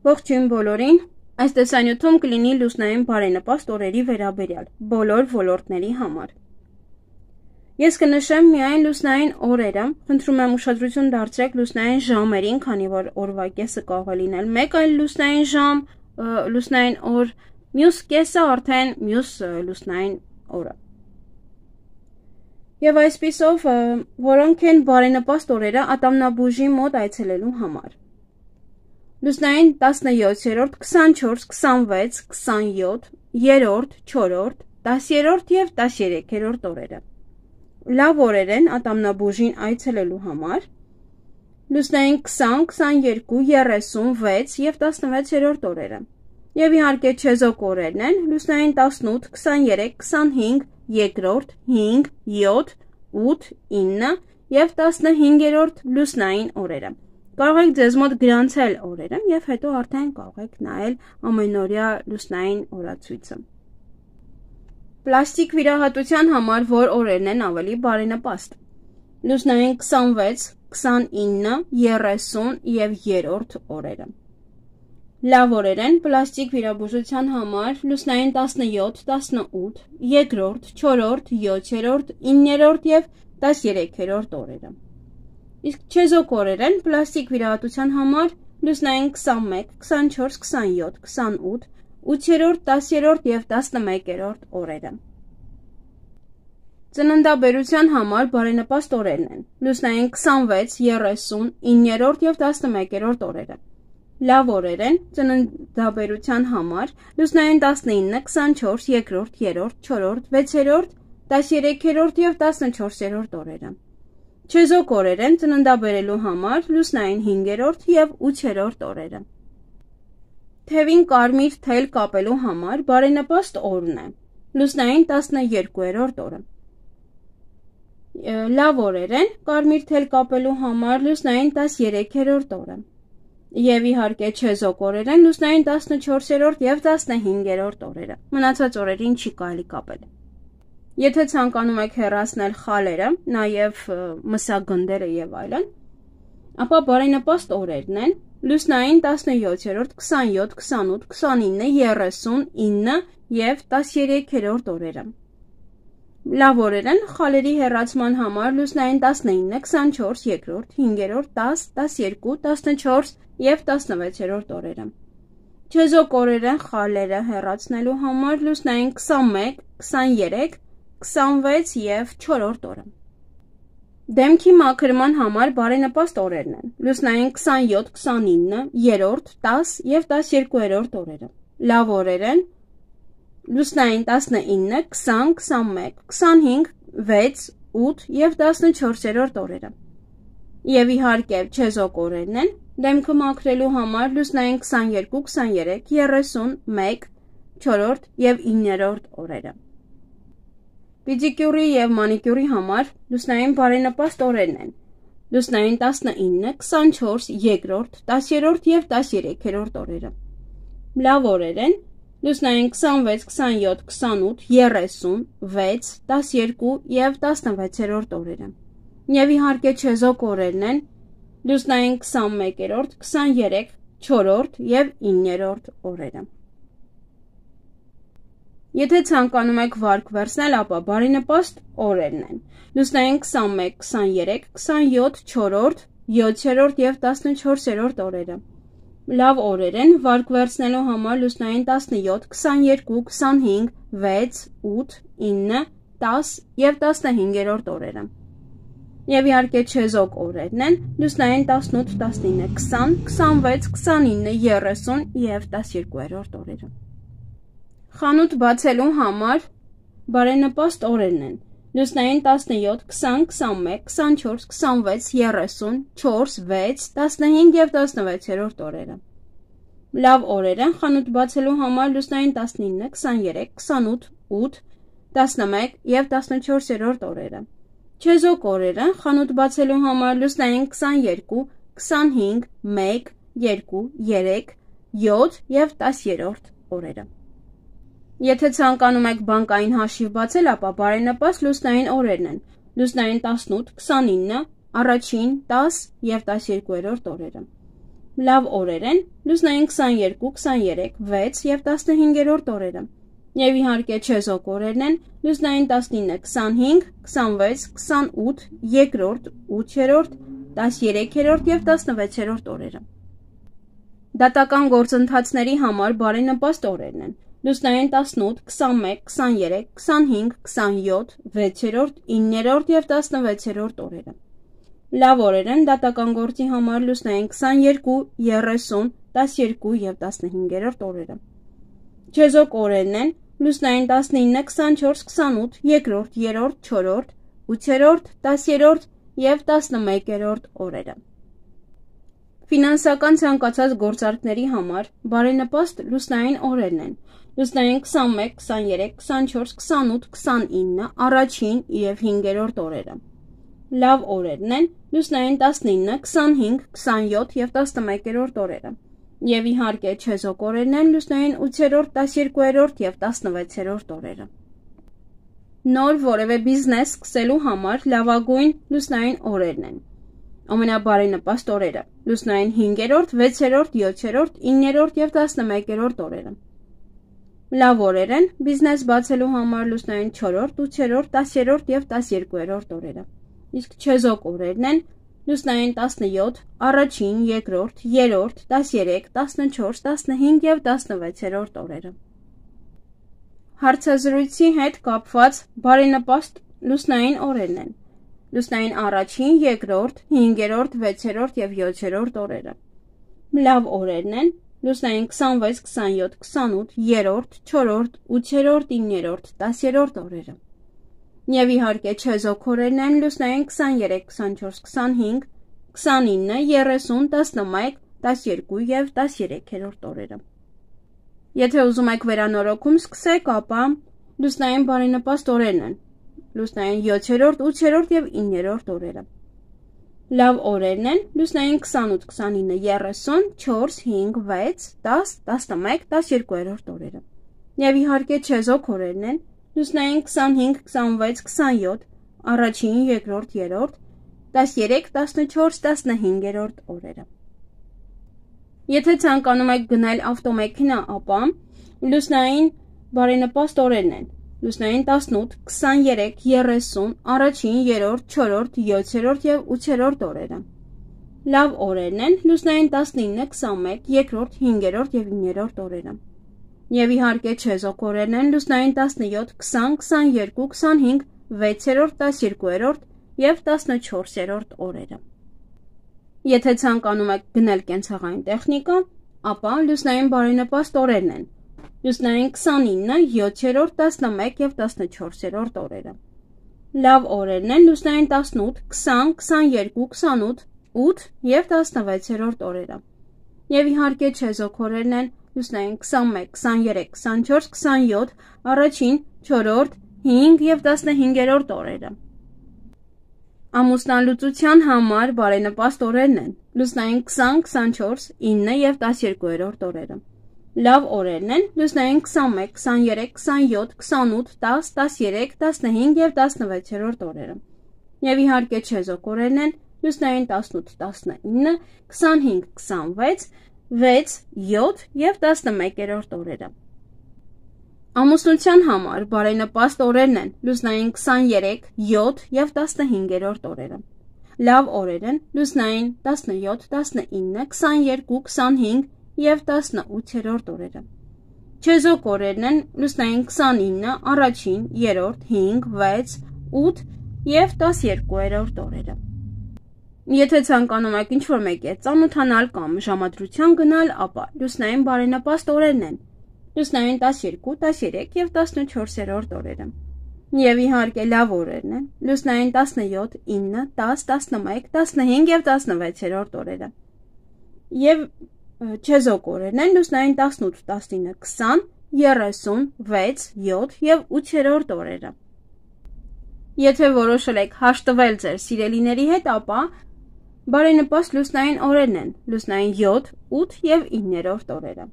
Ողջույն բոլորին, այս տեսանյութում կլինի լուսնային բարենպաստ օրերի վերաբերյալ, բոլոր ոլորտների համար։ Ես կնշեմ միայն լուսնային օրերը, խնդրում եմ ուշադրություն դարձրեք լուսնային ժամերին, քանի որ օրվա կեսը կարող է լինել մեկ այլ լուսնային ժամ, լուսնային օր, մյուս կեսը արդեն մյուս լուսնային օրը։ Եվ այսպիսով, որոնք են բարենպաստ օրերը ատամնաբուժի մոտ այցելելու համար։ Լուսնային 17-րդ, 24, 26, 27, 3-րդ, 4-րդ, 10-րդ և 13-րդ օրերը։ Լավ օրեր են ատամնաբուժին այցելելու համար։ Լուսնային 20, 22, 36 և 16-րդ օրերը։ Եվ իհարկե չեզոք օրերն են լուսնային 18, 23, 25, 2-րդ, 5, 7, 8, 9 և 15-րդ լուսնային օրերը։ Կարող եք ձեզ մոտ գրանցել օրերը և հետո արդեն կարող եք նայել ամենօրյա լուսնային օրացույցը։ Պլաստիկ վիրահատության համար որ օրերն են ավելի բարենպաստ։ Լուսնային 26, 29, 30 և 3-րդ օրերը։ Լավ օրեր են պլաստիկ վիրաբուժության համար լուսնային 17, 18, 2-րդ, 4-րդ, 7-րդ, 9-րդ և 13-րդ օրերը։ Իսկ չեզոք օրեր են պլաստիկ վիրահատության համար լուսնային 21, 24, 27, 28, 8-րդ, 10-րդ և 11-րդ օրերը։ Ծննդաբերության համար բարենպաստ օրերն են լուսնային 26, 30, 9-րդ և 11-րդ օրերը։ Լավ օրեր են ծննդաբերության համար լուսնային 19, 24, 2-րդ, 3-րդ, 4-րդ, 6-րդ, 13-րդ և 14-րդ օրերը։ Չեզոք օրեր են ծննդաբերելու համար լուսնային 5-րդ և 8-րդ օրերը։ Թևին կարմիր թել կապելու համար բարենպաստ օրն է լուսնային 12-րդ օրը։ Լավ օրեր են կարմիր թել կապելու համար լուսնային 13-րդ օրը։ Եվ իհարկե չեզոք օրեր են լուսնային 14-րդ և 15-րդ օրերը։ Մնացած օրերին չի կարելի կապել։ Եթե ցանկանում եք հեռացնել խալերը, նաև մսագնդերը եւ այլն, ապա բարենպաստ օրերն են լուսնային 17-րդ, 27, 28, 29, 39 և 13-րդ օրերը։ Լավ օրեր են խալերի հեռացման համար լուսնային 19, 24, 2-րդ, 5-րդ, 10, 12, 14 և 16-րդ օրերը։ Չեզոք օրեր են խալերը հեռացնելու համար լուսնային 21, 23, 26 և 4-րդ օրը։ Դեմքի մաքրման համար բարենպաստ օրերն են լուսնային 27, 29, 3-րդ, 10 և 12-րդ օրերը։ Լավ օրեր են լուսնային 19, 20, 21, 25, 6, 8 և 14-րդ օրերը։ Եվ իհարկե չեզոք օրերն են դեմքը մաքրելու համար լուսնային 22, 23, 31, 4-րդ և 9-րդ օրերը։ Պեդիկյուրի և մանիկյուրի համար լուսնային բարենպաստ օրերն են լուսնային 19, 24, 2-րդ, 10-րդ և 13-րդ օրերը։ Լավ օրեր են լուսնային 26, 27, 28, 30, 6, 12 և 16-րդ օրերը։ Եվ իհարկե չեզոք օրերն են լուսնային 21-րդ, 23, 4-րդ և 9-րդ օրերը։ Եթե ցանկանում եք վարկ վերցնել, ապա բարենպաստ օրերն են լուսնային 21, 23, 27, 4-րդ, 7-րդ և 14-րդ օրերը։ Լավ օրեր են վարկ վերցնելու համար լուսնային 17, 22, 25, 6, 8, 9, 10 և 15-րդ օրերը։ Եվ իհարկե չեզոք օրերն են լուսնային 18, 19, 20, 26, 29, 30 և 12-րդ օրերը։ Խանութ բացելու համար բարենպաստ օրերն են լուսնային 17, 20, 21, 24, 26, 30, 4, 6, 15 և 16-րդ օրերը։ Լավ օրեր են խանութ բացելու համար լուսնային 19, 23, 28, 8, 11 և 14-րդ օրերը։ Չեզոք օրեր են խանութ բացելու համար լուսնային 22, 25, 1, 2, 3, 7 և 10-րդ օրերը։ Եթե ցանկանում եք բանկային հաշիվ բացել, ապա բարենպաստ լուսնային օրերն են լուսնային 18, 29, առաջին 10 և 12-րդ օրերը։ Լավ օրեր են լուսնային 22, 23, 6 և 15-րդ օրերը։ Եվ իհարկե չեզոք օրերն են լուսնային 19, 25, 26, 28, 2-րդ, 8-րդ, 13-րդ և 16-րդ օրերը։ Դատական գործընթացների համար բարենպաստ օրերն են լուսնային 18, 21, 23, 25, 27, 6-րդ, 9-րդ և 16-րդ օրերը։ Լավ օրեր են դատական գործի համար լուսնային 22, 30, 12 և 15-րդ օրերը։ Չեզոք օրերն են լուսնային 19, 24, 28, 2-րդ, 3-րդ, 4-րդ, 8-րդ, 10-րդ և 11-րդ օրերը։ Ֆինանսական ցանկացած գործարքների համար բարենպաստ լուսնային օրերն են լուսնային 21, 23, 24, 28, 29, առաջին և 5-րդ օրերը։ Լավ օրերն են լուսնային 19, 25, 27 և 11-րդ օրերը։ Եվ իհարկե չեզոք օրերն են լուսնային 8-րդ, 12-րդ և 16-րդ օրերը։ Նոր որևէ բիզնես սկսելու համար լավագույն լուսնային օրերն են ամենաբարենպաստ օրերը լուսնային 5-րդ, 6-րդ, 7-րդ, 9-րդ և 11-րդ օրերը։ Լավ օրեր են բիզնես բացելու համար լուսնային 4-րդ, 8-րդ, 10-րդ և 12-րդ օրերը։ Իսկ չեզոք օրերն են լուսնային 17, առաջին, երկրորդ, 3-րդ, 13, 14, 15 և 16-րդ օրերը։ Հարցազրույցի հետ կապված բարենպաստ լուսնային օրերն են լուսնային առաջին, երկրորդ, 5-րդ, 6-րդ և 7-րդ օրերը։ Լավ օրերն են լուսնային 26, 27, 28, 3-րդ, 4-րդ, 8-րդ, 9-րդ, 10-րդ օրերը։ Եվ իհարկե չեզոք օրերն են լուսնային 23, 24, 25, 29, 30, 11, 12 և 13-րդ օրերը։ Եթե ուզում եք վերանորոգում սկսեք, ապա լուսնային բարենպաստ օրերն են լուսնային 7-րդ, 8-րդ և 9-րդ օրերը։ Լավ օրերն են լուսնային 28, 29, 30, 4, 5, 6, 10, 11, 12-րդ օրերը։ Եվ իհարկե չեզոք օրերն են լուսնային 25, 26, 27, առաջին, երկրորդ, 3-րդ, 13, 14, 15-րդ օրերը։ Եթե ցանկանում եք գնել ավտոմեքենա, ապա լուսնային բարենպաստ օրերն են լուսնային 18, 23, 30, առաջին, 3-րդ, 4-րդ, 7-րդ և 8-րդ օրերը։ Լավ օրերն են լուսնային 19, 21, 2-րդ, 5-րդ և 9-րդ օրերը։ Եվ իհարկե չեզոք օրերն են լուսնային 17, 20, 22, 25, 6-րդ, 12-րդ և 14-րդ օրերը։ Եթե ցանկանում եք գնել կենցաղային տեխնիկա, ապա լուսնային բարենպաստ օրերն են լուսնային 29, 7-րդ, 11 և 14-րդ օրերը։ Լավ օրերն են լուսնային 18, 20, 22, 28, 8 և 16-րդ օրերը։ Եվ իհարկե չեզոք օրերն են լուսնային 21, 23, 24, 27, առաջին, 4-րդ, 5 և 15-րդ օրերը։ Ամուսնալուծության համար բարենպաստ օրերն են լուսնային 20, 24, 9 և 12-րդ օրերը։ Լավ օրերն են լուսնային 21, 23, 27, 28, 10, 13, 15 և 16-րդ օրերը։ Եվ իհարկե չեզոք օրերն են լուսնային 18, 19, 25, 26, 6, 7 և 11-րդ օրերը։ Ամուսնության համար բարենպաստ օրերն են լուսնային 23, 7 և 15-րդ օրերը։ Լավ օրեր են լուսնային 17, 19, 22, 25 և 18-րդ օրերը։ Չեզոք օրերն են լուսնային 29, առաջին, 3-րդ, 5, 6, 8 և 12-րդ օրերը։ Եթե ցանկանում եք ինչ-որ մեկի հետ ծանոթանալ կամ ժամադրության գնալ, ապա լուսնային բարենպաստ օրերն են լուսնային 12, 13 և 14-րդ օրերը։ Եվ իհարկե լավ օրերն են լուսնային 17, 9, 10, 11, 15 և 16-րդ օրերը։ Եվ չեզոք օրերն են լուսնային 18, 19, 20, 36, 7 և 8-րդ օրերը։ Եթե որոշել եք հաշտվել ձեր սիրելիների հետ, ապա բարենպաստ լուսնային օրերն են լուսնային 7, 8 և 9-րդ օրերը։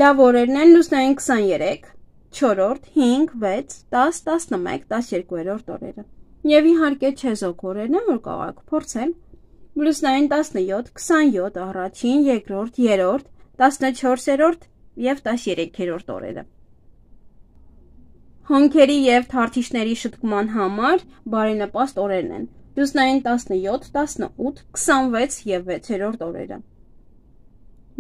Լավ օրերն են լուսնային 23, 4-րդ, 5, 6, 10, 11, 12-րդ օրերը։ Եվ իհարկե չեզոք օրերն են, որ կարող եք փորձել +9, 17, 27, առաջին, երկրորդ, երրորդ, 14-րդ և 13-րդ օրերը։ Հոնքերի և թարթիչների շտկման համար բարենպաստ օրերն են +9, 17, 18, 26 և 6-րդ օրերը։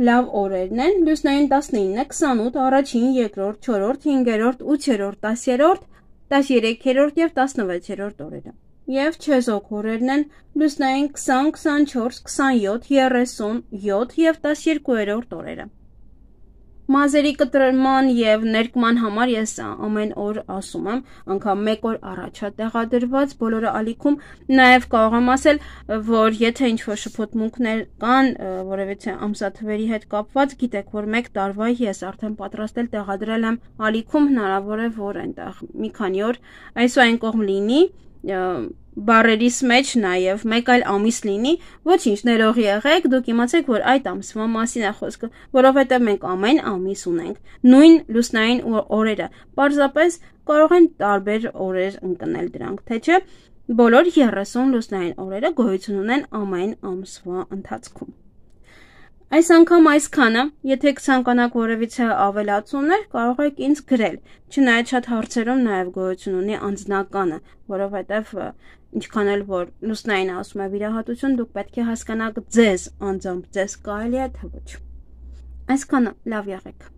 Լավ օրերն են +9, 19, 28, առաջին, երկրորդ, 4-րդ, 5-րդ, 8-րդ, 10-րդ, 13-րդ և 16-րդ օրերը։ Եվ չեզոք օրերն են +9, 20, 24, 27, 37 և 12-րդ օրերը։ Մազերի կտրման և ներկման համար ես ամեն օր ասում եմ, անգամ մեկ օր առաջ է տեղադրված բոլորը ալիքում, նաև կարող եմ ասել, որ եթե ինչ-որ շփոթմունքներ կան, որևիցե ամսաթվերի հետ կապված, գիտեք, որ 1 տարվա ես արդեն պատրաստել տեղադրել եմ ալիքում, հնարավոր է, որ այնտեղ մի քանի օր այսօր կողմ լինի, բառերիս մեջ նաև մեկ այլ ամիս լինի, ոչինչ, ներող եղեք, դուք իմացեք, որ այդ ամսվա մասին է խոսքը, որովհետև մենք ամեն ամիս ունենք նույն լուսնային օրերը, պարզապես կարող են տարբեր օրեր ընկնել դրանք, թե չէ, բոլոր 30 լուսնային օրերը գոյություն ունեն ամեն ամսվա ընթացքում։ Այս անգամ այսքանը, եթե կցանկանաք որևիցե ավելացումներ, կարող եք ինձ գրել, չնայած շատ հարցերում նաև գոյություն ունի անձնականը, որովհետև ինչքան էլ որ լուսնային ասում է վիրահատություն, դուք պետք է հասկանաք ձեզ անձամբ, ձեզ կարելի է թե ոչ։ Այսքանը, լավ եղեք։